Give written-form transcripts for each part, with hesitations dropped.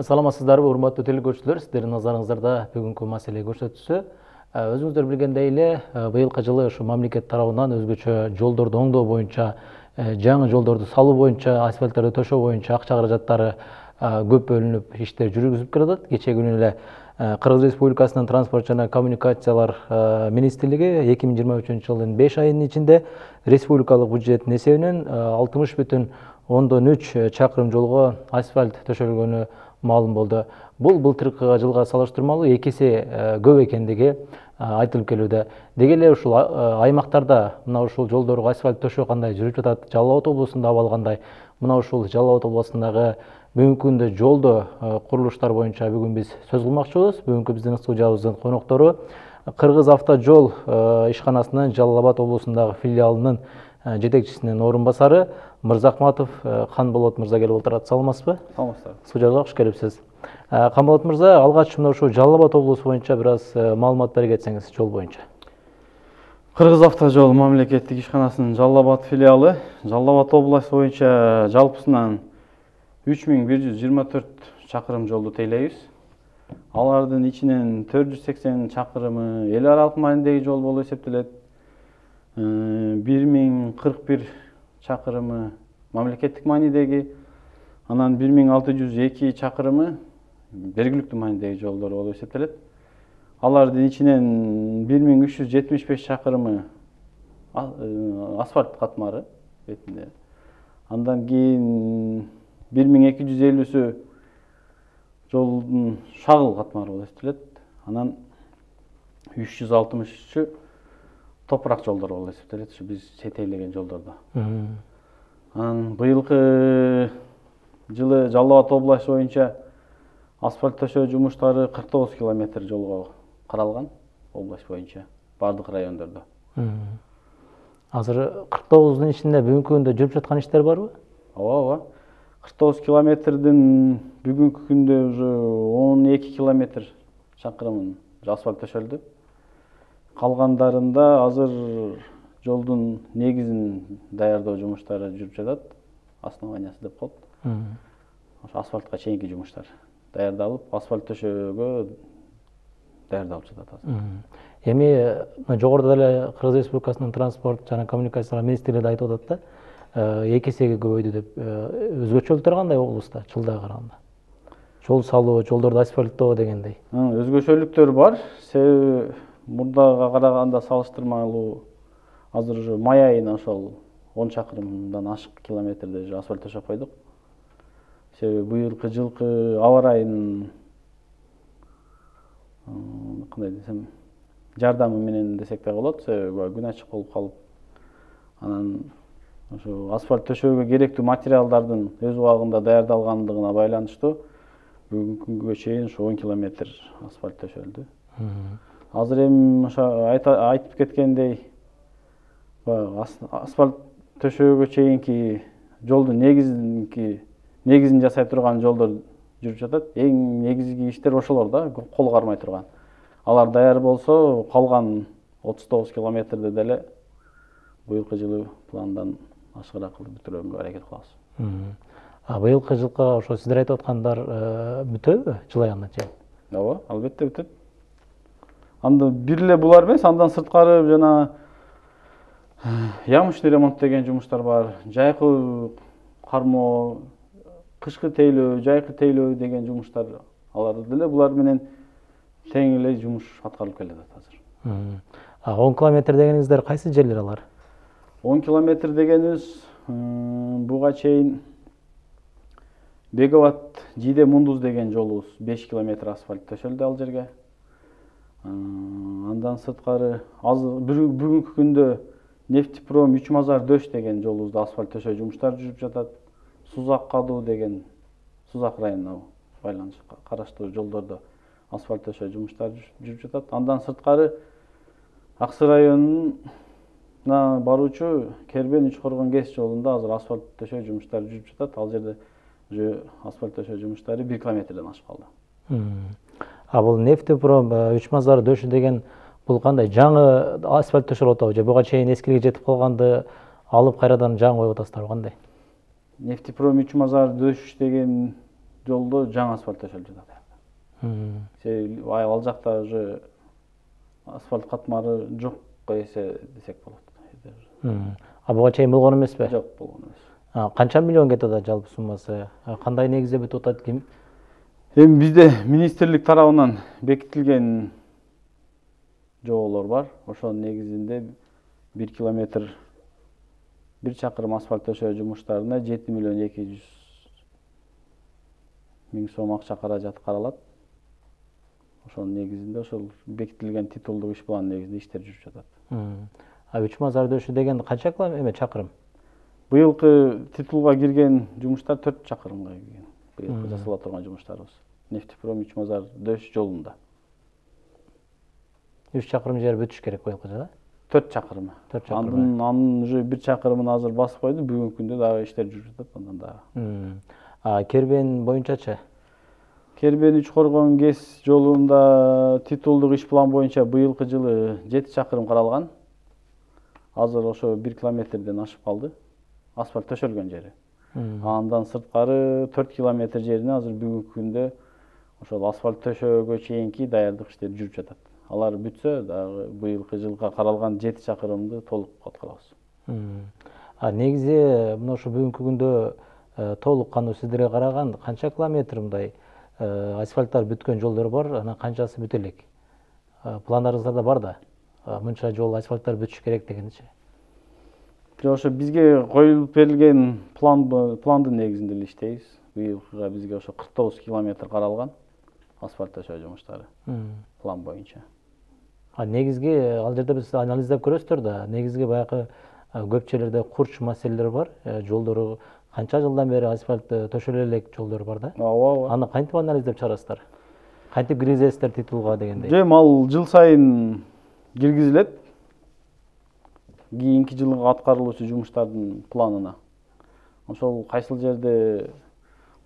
Саламатсыздарбы, урматтуу телекөрүүчүлөр, сиздердин назарыңыздарда бүгүнкү маселе көрсөтүүсү. Өзүңүздөр билгендей эле, быйылкы жылы ушу мамлекет тарабынан өзгөчө жолдорду оңдоо боюнча, жаңы жолдорду салуу боюнча, асфальттарды төшөө боюнча акча каражаттары көп бөлүнүп иштер жүргүзүлүп келатат. Кечээ күнү эле Кыргыз Республикасынын транспорт жана коммуникациялар министрлиги 2023 жылдын 5 айынын ичинде республикалык бюджеттин эсебинен 60,3 чакырым жолго асфальт төшөлгөнү маалым болду. Бул былтыркы жылга салыштырмалуу 2 эсе көп экендиги айтылып келүүдө. Деги эле ушул аймактарда мына ушул жолдорго асфальт төшөө кандай жүрүп жатат? Жалал Абад облусунда абал кандай? Мына ушул Жалал Абад облусундагы бүгүнкү күндө жолдо курулуштар боюнча бүгүн биз сөз кылмакчыбыз. Бүгүнкү биздин студиябыздын коноктору Кыргыз Автожол ишканасынын Жалал Абад облусундагы филиалынын жетекчисинин орун басары Мырзахматов Канболот мырза келип отурат. Саламатсызбы? Саламатсыздар. Студияга кош келипсиз. Канболот мырза, алгач мына ушул Жалал Абад облусу боюнча бир аз маалымат бере кетсеңиз жол боюнча. Кыргыз Автожол мамлекеттик ишканасынын Жалал Абад филиалы Жалал Абад облусу боюнча жалпысынан 3124 чакырым жолду тейлейбиз. Алардын ичинен 480 чакырымы эл аралык маанидеги жол болуп эсептелет. 1041 чакырымы мамлекеттик маанидеги, анан 1602 чакырымы бергиликтүү маанидеги жолдор болуп эсептелет. Алардын ичинен 1375 чакырымы асфальт катмары бетинде. Андан кийин 1250сү жолдун шагыл катмары болуп эсептелет. Анан 363-ü топурак жолдор болуп эсептелет, ушу биз четейлеген жолдордо. Анан быйылкы жылы Жалал Абад облусу боюнча асфальт төшөө жумуштары 49 километр жолго каралган облус боюнча бардык райондордо. Азыр 49-дун ичинде бүгүнкү күндө жүрүп жаткан иштер барбы? Ооба. 49 километрдин бүгүнкү күндө уже 12 километр чакырымын асфальт төшөлдү. Калгандарында азыр жолдун негизин даярдоо жумуштары жүрүп жатат. Основаниясы деп коет. Ошо асфальтка чейинки жумуштар даярдалып, асфальт төшөөгө даярдалып жатат азыр. Эми жогоруда эле Кыргыз Республикасынын транспорт жана коммуникациялар министрлиги айтып атат да, 2 эсеге көбөйдү деп. Өзгөчөлүктөр кандай облуста жылдага караганда? Жол салуу, жолдорду асфальттоо дегендей. Өзгөчөлүктөр бар. Себеби мурдага караганда салыштырмалуу азыр уже май айына ошол 10 чакырымдан ашык километрде асфальт төшөп койдук. Себеби быйылкы жылкы аба ырайынын кандай десем, жардамы менен десек да болот. Себеби күн ачык болуп калып, анан ошо асфальт төшөөгө керектүү материалдардын өз убагында даярдалгандыгына байланыштуу бүгүнкү күнгө чейин 10 километр асфальт төшөлдү. Азыр эми ошо айтып кеткендей, асфальт төшөөгө чейинки жолдун негизин жасай турган жолдор жүрүп жатат. Эң негизги иштер ошолор да, кол кармай турган. Алар даяр болсо, калган 39 километрди деле быйылкы жылы пландан ашыгыраак кылып бүтүрүүгө аракет кылабыз. Быйылкы жылга ошо сиздер айтып аткандар бүтөбү жыл аягына чейин? Ооба, албетте бүтөт. Анда бир эле булар эмес, андан сырткары жана ямочный ремонт деген жумуштар бар. Жайкы кармоо, кышкы тейлөө, жайкы тейлөө деген жумуштар, алар деле булар менен тең эле жумуш аткарылып келатат азыр. 10 километр дегениңиздер кайсы жерлер алар? 10 километр дегенибиз буга чейин Беговат Жиде Мундуз деген жолубуз 5 километр асфальт төшөлдү ал жерге. Андан сырткары бүгүнкү күндө Нефтепром Үчмазар Дөш деген жолубузда асфальт төшөө жумуштары жүрүп жатат. Сузак Кадуу деген Сузак районуна караштуу жолдордо асфальт төшөө жумуштары жүрүп жатат. Андан сырткары Аксы районуна баруучу Кербен Үчкоргон КЭС жолунда азыр асфальт төшөө жумуштары жүрүп жатат. Ал жерде уже асфальт төшөө жумуштары 1 километрден ашып калды. Бул Нефтепром Үчмазар Дөш деген бул кандай жаңы асфальт төшөлүп атабы же буга чейин эскилиги жетип калганды алып кайрадан жаңы коюп атасыздарбы, кандай? Нефтепром Үчмазар Дөш деген жолдо жаңы асфальт төшөлүп жатат. Ал жакта уже асфальт катмары жокко эсе десек болот. Буга чейин болгон эмеспи? Жок, болгон эмес. Канча миллион кетип атат жалпы суммасы? Кандай негизде бүтүп атат? Эми бизде министрлик тарабынан бекитилген жоболор бар. Ошонун негизинде 1 километр 1 чакырым асфальт төшөө жумуштарына 7 миллион 200 миң сом акча каражат каралат. Ошонун негизинде ошол бекитилген титулдук иш план негизинде иштер жүрүп жатат. Үч мазар дөшү деген канча чакырым? Быйылкы титулга кирген жумуштар 4 чакырымга кирген. Быйылкы жасала турган жумуштарыбыз. Нефтепром Үч мазар дөш жолунда. 3 чакырым жер бүтүш керек быйылкы жылы? 4 чакырым. Анын уже 1 чакырымын азыр басып койду. Бүгүнкү күндө дагы иштер жүрүп жатат андан дагы. Кербен боюнчачы? Кербен Үч Коргон ГЭС жолунда титулдук иш план боюнча быйылкы жылы 7 чакырым каралган. Азыр ошо 1 километрден ашып калды. Асфальт төшөлгөн жери. Андан сырткары 4 километр жерине азыр бүгүнкү күндө ошол асфальт төшөөгө чейинки даярдык иштери жүрүп жатат. Алар бүтсө дагы быйылкы жылга каралган 7 чакырымды толук аткарабыз. Негизи мына ошо бүгүнкү күндө толук кандуу сиздерге караган канча километр мындай асфальттар бүткөн жолдор бар, анан канчасы бүтө элек? Пландарыңыздарда бар да, мынча жол асфальттар бүтүш керек дегенчи. Ошо бизге коюлуп берилген пландын негизинде эле иштейбиз. Быйылкыга бизге ошо 49 километр каралган асфальт төшөө жумуштары план боюнча. Негизги ал жерде биз анализдеп көрөсүздөр да, негизги баягы көп жерлерде курч маселелер бар, жолдору канча жылдан бери асфальт төшөлө элек жолдор бар да. Ооба. Аны кантип анализдеп чыгарасыздар? Кантип киргизесиздер титулга дегендей? Ал жыл сайын киргизилет. Кийинки жылга аткарылуучу жумуштардын планына. Ошол кайсыл жерде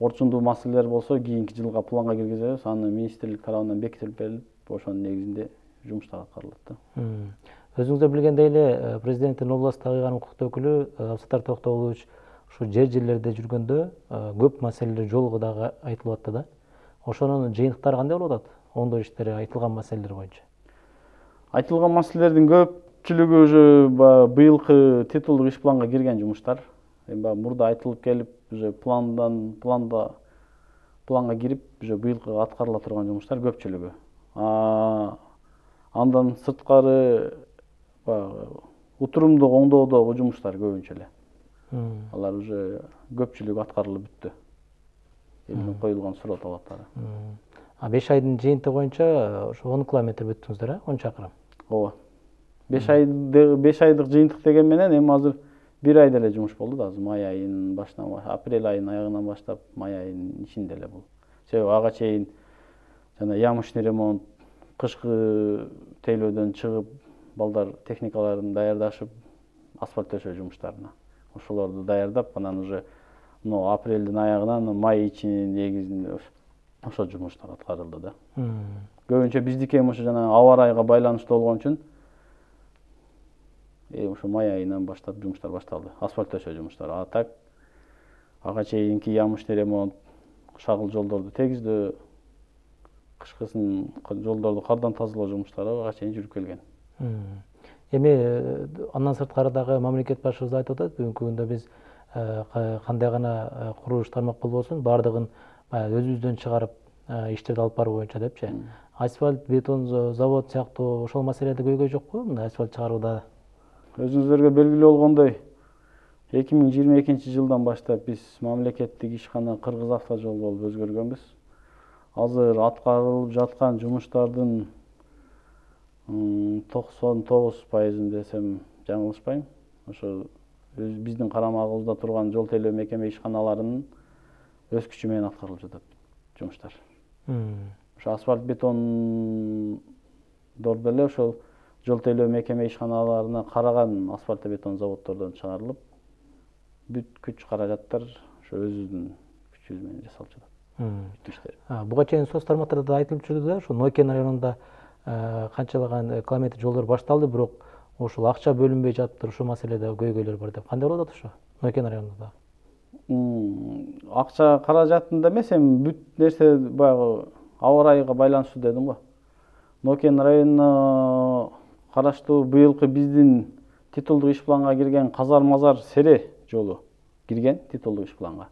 орчундуу маселелер болсо, кийинки жылга планга киргизебиз. Аны министрлик тарабынан бекитилип берилип, ошонун негизинде жумуштар аткарылат да. Өзүңүздөр билгендей эле, президенттин областтагы кыйгарым укуктуу өкүлү Абсаттар Токтогулович ушу жерлерде жүргөндө көп маселелер жолго дагы айтылып атты да. Ошонун жыйынтыктары кандай болуп атат? Оңдоо иштери айтылган маселелер боюнча. Айтылган маселелердин көпчүлүгү уже быйылкы титулдук иш планга кирген жумуштар. Эми мурда айтылып келип, уже планга кирип, уже быйылкы аткарыла турган жумуштар көпчүлүгү. Андан сырткары утурумдук оңдоодогу жумуштар көбүнчө эле. Алар уже көпчүлүгү аткарылып бүттү. Элдин коюлган суроо талаптары. 5 айдын жыйынтыгы боюнча ошо 10 километр бүттүңүздөр, 10 чакырым. Ооба. 5 айдык жыйынтык деген менен эми азыр 1 айда эле жумуш болду да, азыр май айынын башынан, апрель айынын аягынан баштап май айынын ичинде эле бул. Себеби ага чейин жана ямочный ремонт, кышкы тейлөөдөн чыгып, балдар техникаларын даярдашып, асфальт төшөө жумуштарына. Ошолорду даярдап, анан уже апрелдин аягынан май ичинин негизинде ошо жумуштар аткарылды да. Көбүнчө биздики эми ошо жана аба ырайга байланыштуу болгон үчүн ошо май айынан баштап жумуштар башталды. Асфальт төшөө жумуштары. А так ага чейинки ямочный ремонт, шагыл жолдорду тегиздөө, кышкысын жолдорду кардан тазалоо жумуштары ага чейин жүрүп келген. Эми андан сырткары дагы мамлекет башчыбыз айтып атат, бүгүнкү күндө биз кандай гана курулуш тармак болбосун, баардыгын өзүбүздөн чыгарып иштерди алып баруу боюнча депчи. Асфальт, бетон завод сыяктуу ошол маселеде көйгөй жокпу мындай асфальт чыгарууда? Өзүңүздөргө белгилүү болгондой, 2022 жылдан баштап биз мамлекеттик ишкана Кыргыз Автожол болуп өзгөргөнбүз. Азыр аткарылып жаткан жумуштардын 99% десем жаңылышпайм. Ошо биздин карамагыбызда турган жол тейлөө мекеме ишканаларынын өз күчү менен аткарылып жатат жумуштар. Ошо асфальт бетондор деле ошол жол тейлөө мекеме ишканаларына караган асфальт бетон заводдордон чыгарылып, бүт күч каражаттар ошо өзүбүздүн күчүбүз менен жасалып жатат. Буга чейин соц тармактарда да айтылып жүрдү да, ошо Нойкен районунда канчалаган километр жолдор башталды, бирок ошол акча бөлүнбөй жатыптыр, ошол маселеде көйгөйлөр бар деп. Кандай болуп атат ошо Нойкен районунда? Акча каражатында эмес, эми бүт нерсе баягы аба ырайыга байланыштуу дедим го. Нокен районуна караштуу быйылкы биздин титулдук иш планга кирген Казар-Мазар Сере жолу кирген титулдук иш планга.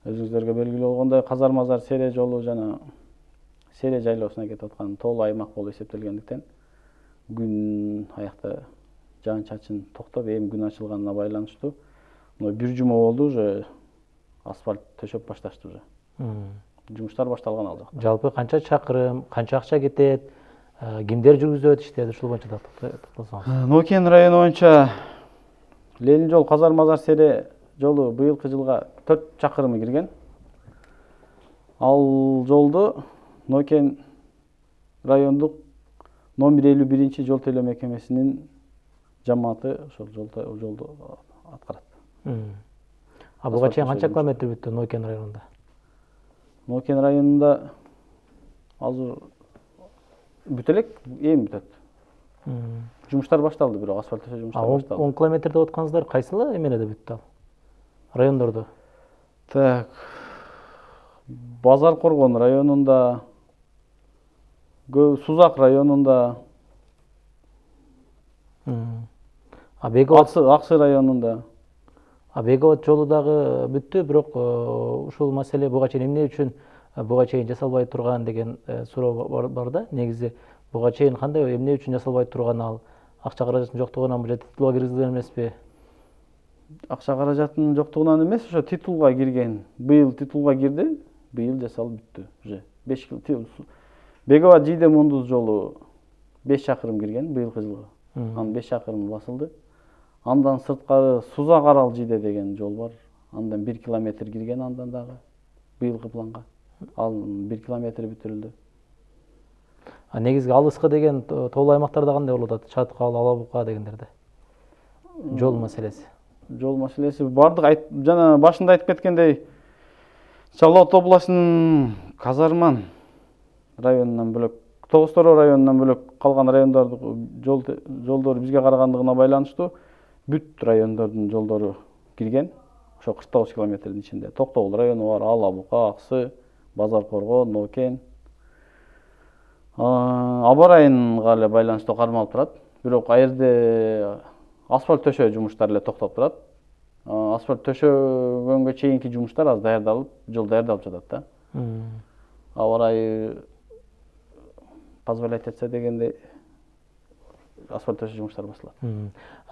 Өзүңүздөргө белгилүү болгондой, Казар-Мазар Сере жолу жана Сере жайлоосуна кетип аткан тоолуу аймак болуп эсептелгендиктен күн аякта жаан-чачын токтоп, эми күн ачылганына байланыштуу бир жума болду уже асфальт төшөп башташты уже. Жумуштар башталган ал жакта. Жалпы канча чакырым, канча акча кетет, кимдер жүргүзөт иштерди, ушул боюнча токтолсоңуз. Нокен району боюнча Ленин жол Казар-Мазар Сере жолу быйылкы жылга 4 чакырымы кирген. Ал жолду Нокен райондук номер 51 жол тейлөө мекемесинин жамааты ошол жолду аткарат. Буга чейин канча километр бүттү Нокен районунда? Нокен районунда азыр бүтө элек, эми бүтөт. Жумуштар башталды, бирок асфальт төшөө жумуштары башталды. 10 километр деп атканыңыздар кайсыл эмелерде бүттү ал? Райондордо. Так. Базар Коргон районунда, Сузак районунда, Аксы районунда. Беговод жолу дагы бүттү, бирок ушул маселе буга чейин эмне үчүн буга чейин жасалбай турган деген суроо бар да. Негизи буга чейин кандай, эмне үчүн жасалбай турган, ал акча каражаттын жоктугунан же титулга киргизилген эмеспи? Акча каражаттын жоктугунан эмес, ошо титулга кирген. Быйыл титулга кирди, быйыл жасалып бүттү уже. 5 Беговод Жийде Мундуз жолу 5 чакырым кирген быйылкы жылга. Анын 5 чакырымы басылды. Андан сырткары Сузак Арал Жийде деген жол бар. Андан 1 километр кирген андан дагы быйылкы планга. Ал 1 километр бүтүрүлдү. Негизги алыскы деген тоолуу аймактарда кандай болуп атат? Чаткал, Ала Бука дегендерде. Жол маселеси. Жол маселеси бардык жана башында айтып кеткендей, Жалал Абад областынын Казарман районунан бөлөк, Тогуз-Тороо районунан бөлөк калган райондордун жолдору бизге карагандыгына байланыштуу бүт райондордун жолдору кирген. Ошо 49 километрдин ичинде. Токтогул району бар, Ала Бука, Аксы, Базар Коргон, Нокен. Аба ырайынга эле байланыштуу кармалып турат. Бирок ал жерде асфальт төшөө жумуштары эле токтоп турат. Асфальт төшөгөнгө чейинки жумуштар аз даярдалып, жол даярдалып жатат да. Аба ырайы позволять этсе дегенде асфальт төшөө жумуштары башталат.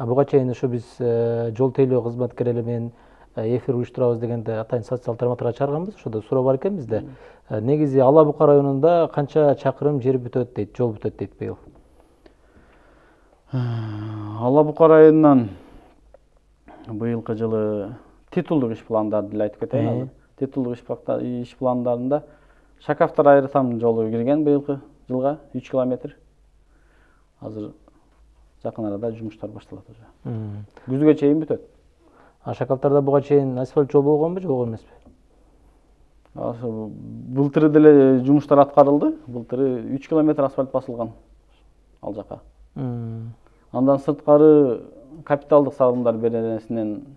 Буга чейин ушу биз жол тейлөө кызматкерлери менен эфир уюштурабыз дегенде атайын социалдык тармактарга чыгарганбыз. Ошодо суроо бар экен бизде. Негизи Ала Бука районунда канча чакырым жер бүтөт дейт, жол бүтөт дейт быйыл? Ала Бука районунан быйылкы жылы титулдук иш пландарды эле айтып кетейин. Титулдук иш пландарында Шакафтар Айрытам жолу кирген быйылкы жылга 3 километр. Азыр жакын арада жумуштар башталат уже. Күзгө чейин бүтөт. Шакафтарда буга чейин асфальт жол болгонбу, же болгон эмеспи? Былтыры деле жумуштар аткарылды. Былтыры 3 километр асфальт басылган ал жака. Андан сырткары капиталдык салымдар беренесинен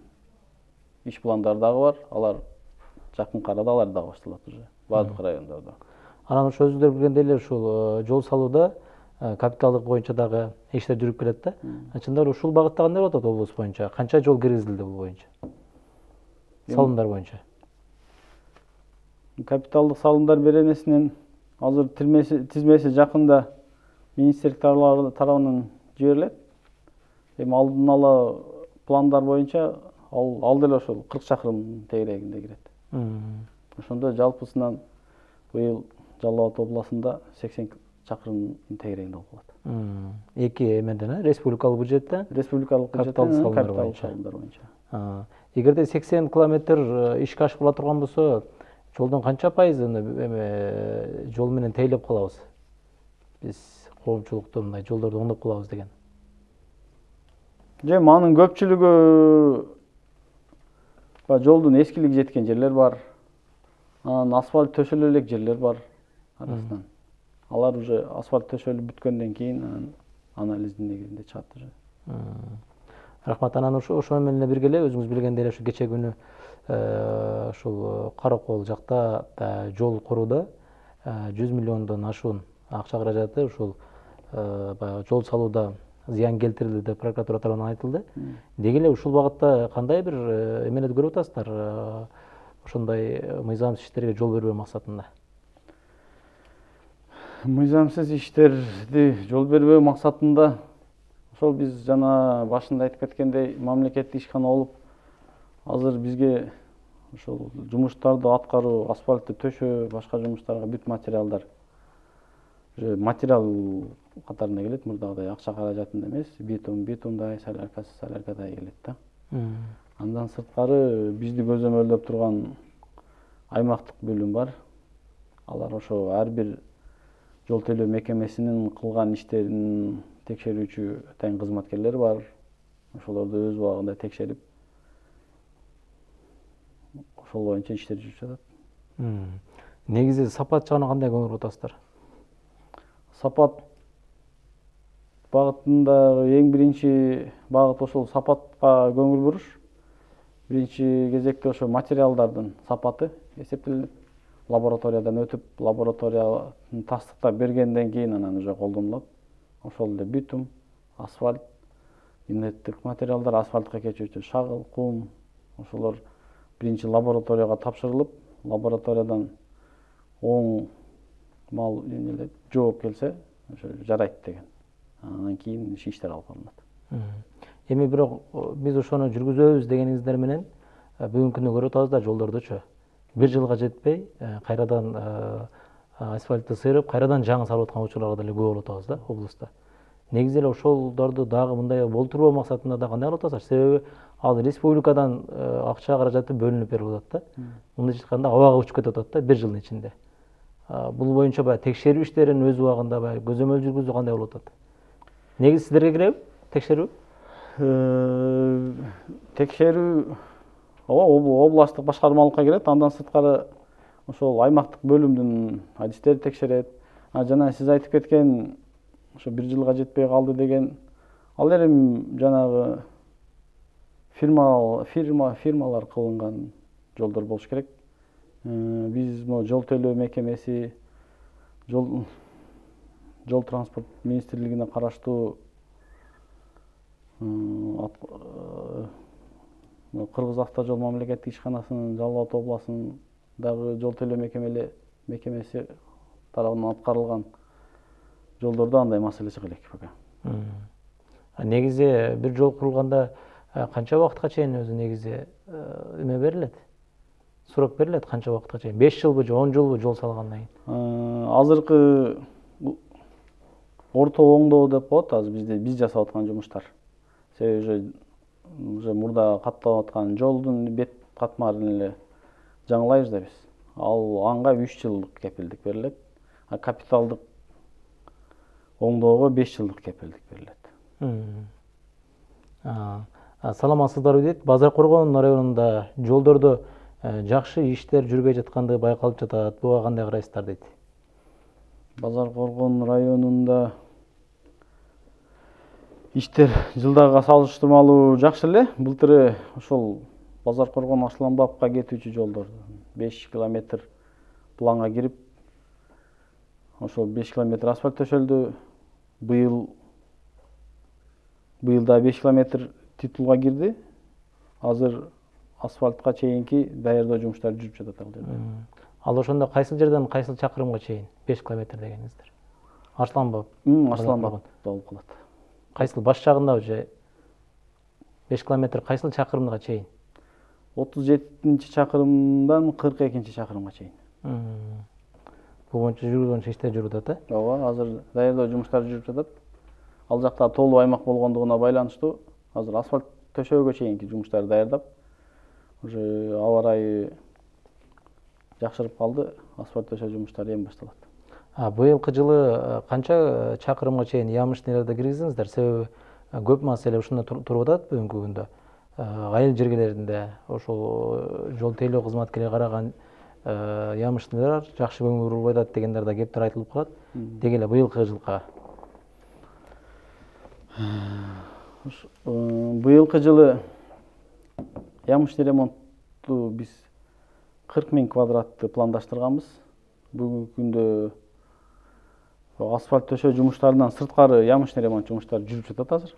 иш пландары дагы бар. Алар жакынкы арада алар дагы башталат уже бардык райондордо. Анан ошо өзүңүздөр билгендей эле ушул жол салууда капиталдык боюнча дагы иштер жүрүп келет да. Чындап ушул багытта кандай болуп атат облус боюнча? Канча жол киргизилди бул боюнча? Салымдар боюнча. Капиталдык салымдар беренесинен азыр тизмеси жакында министрлик тарабынан жиберилет. Эми алдын ала пландар боюнча ал деле ошол 40 чакырым тегерегинде кирет. Ошондо жалпысынан быйыл Жалал Абад областында 80 чакырым тегерегинде болуп калат. Эки эмеден, республикалык бюджеттен, республикалык капиталдык салымдар боюнча. Эгерде 80 километр ишке ашырыла турган болсо, жолдун канча пайызын жол менен тейлеп калабыз? Биз коомчулукту мындай жолдорду оңдоп калабыз деген. Анын көпчүлүгү жолдун эскилиги жеткен жерлер бар. Анан асфальт төшөлө элек жерлер бар арасынан. Алар уже асфальт төшөлүп бүткөндөн кийин анализдин негизинде чыгат уже. Рахмат. Анан ошо менен эле бирге эле өзүңүз билгендей эле ушу кече күнү ушул Каракол жакта жол курууда 100 миллиондон ашуун акча каражаты ушул баягы жол салууда зыян келтирилди деп прокуратура тарабынан айтылды. Деги эле ушул багытта кандай бир эмелерди көрүп атасыздар? Ошондой мыйзамсыз иштерге жол бербөө максатында. Мыйзамсыз иштерди жол бербөө максатында ошол биз жана башында айтып кеткендей мамлекеттик ишкана болуп, азыр бизге ошол жумуштарды аткаруу, асфальтты төшөө, башка жумуштарга бүт материалдар материал катарында келет, мурдагыдай акча каражатында эмес, битумдай, соляркадай келет да. Андан сырткары бизди көзөмөлдөп турган аймактык бөлүм бар. Алар ошо ар бир жол төлөө мекемесинин кылган иштерин текшерүүчү атайын кызматкерлер бар. Ошолорду өз убагында текшерип, ошол боюнча иштер жүрүп жатат. Негизи сапат жагына кандай көңүл буруп атасыздар? Сапат багытындагы эң биринчи багыт ошол сапатка көңүл буруш. Биринчи кезекте ошо материалдардын сапаты эсептелет. Лабораториядан өтүп, лабораториянын тастыктап бергенден кийин анан уже колдонулат. Ошол эле битум, асфальт, инерттик материалдар, асфальтка кечүүчү шагыл, кум, ошолор биринчи лабораторияга тапшырылып, лабораториядан оң мал жооп келсе, ошо жарайт деген. Андан кийин иштер алып барылат. Эми бирок биз ошону жүргүзөбүз дегениңиздер менен бүгүнкү күндө көрүп атабыз да жолдордучу. Бир жылга жетпей кайрадан асфальтты сыйрып, кайрадан жаңы салып аткан учурларга деле күбө болуп атабыз да облуста. Негизи эле ошолорду дагы мындай болтурбоо максатында да кандай кылып атасыздар? Себеби ал республикадан акча каражаты бөлүнүп берип атат да. Мындайча айтканда абага учуп кетип атат да бир жылдын ичинде. Бул боюнча баягы текшерүү иштерин өз убагында баягы көзөмөл жүргүзүү кандай болуп атат? Негизи сиздерге киреби текшерүү? Текшерүү областтык башкармалыкка кирет, андан сырткары ошол аймактык бөлүмдүн адистери текшерет. Жана сиз айтып кеткен ошо бир жылга жетпей калды деген, ал эми жанагы фирмалар кылынган жолдор болуш керек. Биз могу жол төлөө мекемеси, жол транспорт министрлигине караштуу Кыргыз автожол мамлекеттик ишканасынын Жалал Абад областындагы жол төлөө мекемеси тарабынан аткарылган жолдордо андай маселе чыга элек пока. Негизи бир жол курулганда канча убакытка чейин өзү негизи эме берилет? Сурок берилет канча убакытка чейин? 5 жылбы же 10 жылбы жол салгандан кийин? Азыркы орто оңдоо деп коет азыр биз жасап аткан жумуштар. Себеби уже мурда катталып аткан жолдун бет катмарын эле жаңылайбыз да биз. Анга 3 жылдык кепилдик берилет. Капиталдык оңдоого 5 жылдык кепилдик берилет. Саламатсыздарбы дейт. Базар Коргон районунда жолдордо жакшы иштер жүрбөй жатканды байкалып жатат. Буга кандай карайсыздар дейт. Базар Коргон районунда иштер жылдагыга салыштырмалуу жакшы эле. Былтыр ошол Базар Коргон Асланбапка кетүүчү жолдор 5 километр планга кирип, ошол 5 километр асфальт төшөлдү. Быйыл да 5 километр титулга кирди. Азыр асфальтка чейинки даярдоо жумуштары жүрүп жатат ал жерде. Ал ошондо кайсыл жерден кайсыл чакырымга чейин 5 километр дегениңиздер? Асланбап. Асланбап болуп калат. Кайсыл баш жагындабы же 5 километр кайсыл чакырымга чейин? 37-чи чакырымдан 42-чи чакырымга чейин. Бул боюнча жүргүзгөн иштер жүрүп атат, э? Ооба, азыр даярдоо жумуштары жүрүп жатат. Ал жакта тоолуу аймак болгондугуна байланыштуу азыр асфальт төшөөгө чейинки жумуштарды даярдап, уже аба ырайы жакшырып калды, асфальт төшөө жумуштары эми башталат. Быйылкы жылы канча чакырымга чейин ямыштыйларды киргиздиңиздер? Себеби көп маселе ушунда туруп атат бүгүнкү күндө. Айыл жергелеринде ошол жол тейлөө кызматкерлери караган ямыштыйлар жакшы көңүл бурулбай атат дегендер да кептер айтылып калат. Деги эле быйылкы жылга. Быйылкы жылы ямыштый ремонтту биз 40 000 квадратты пландаштырганбыз. Бүгүнкү күндө асфальт төшөө жумуштарынан сырткары ямыштый ремонт жумуштары жүрүп жатат азыр.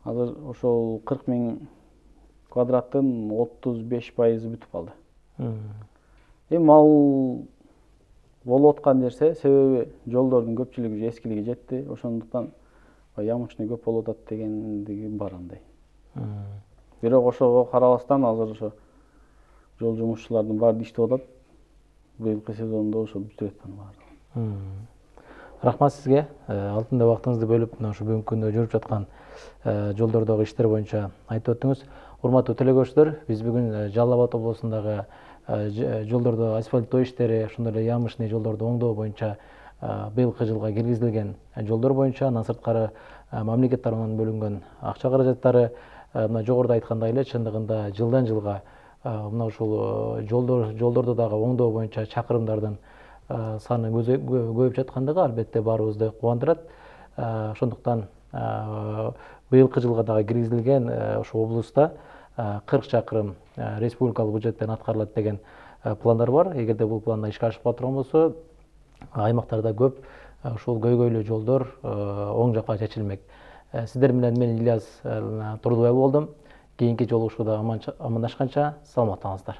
Азыр ошол 40 000 квадраттын 35% бүтүп калды. Эми ал болуп аткан нерсе, себеби жолдордун көпчүлүгү эскилиги жетти. Ошондуктан ямычный көп болуп атат дегендиги бар андай. Бирок ошого карабастан азыр ошо жол жумушчулардын баары иштеп атат. Быйылкы сезондо ошо бүтүп аткан баары. Рахмат сизге. Алтындай убактыңызды бөлүп, мына ушу бүгүнкү күндө жүрүп жаткан жолдордогу иштер боюнча айтып өттүңүз. Урматтуу телекөрүүчүлөр, биз бүгүн Жалал Абад облусундагы жолдордо асфальттоо иштери, ошондой эле ямышный жолдорду оңдоо боюнча быйылкы жылга киргизилген жолдор боюнча андан сырткары мамлекет тарабынан бөлүнгөн акча каражаттары, мына жогоруда айткандай эле чындыгында жылдан жылга мына ушул жолдорду дагы оңдоо боюнча чакырымдардын саны көбөйүп жаткандыгы албетте баарыбызды кубандырат. Ошондуктан быйылкы жылга дагы киргизилген ошо облуста 40 чакырым республикалык бюджеттен аткарылат деген пландар бар. Эгерде бул пландар ишке ашып кала болсо, аймактарда көп ушул көйгөйлүү жолдор оң жакка чечилмек. Сиздер менен мен Ильяс Турдубай болдум. Кийинки жолугушууда амандашканча саламаттаңыздар.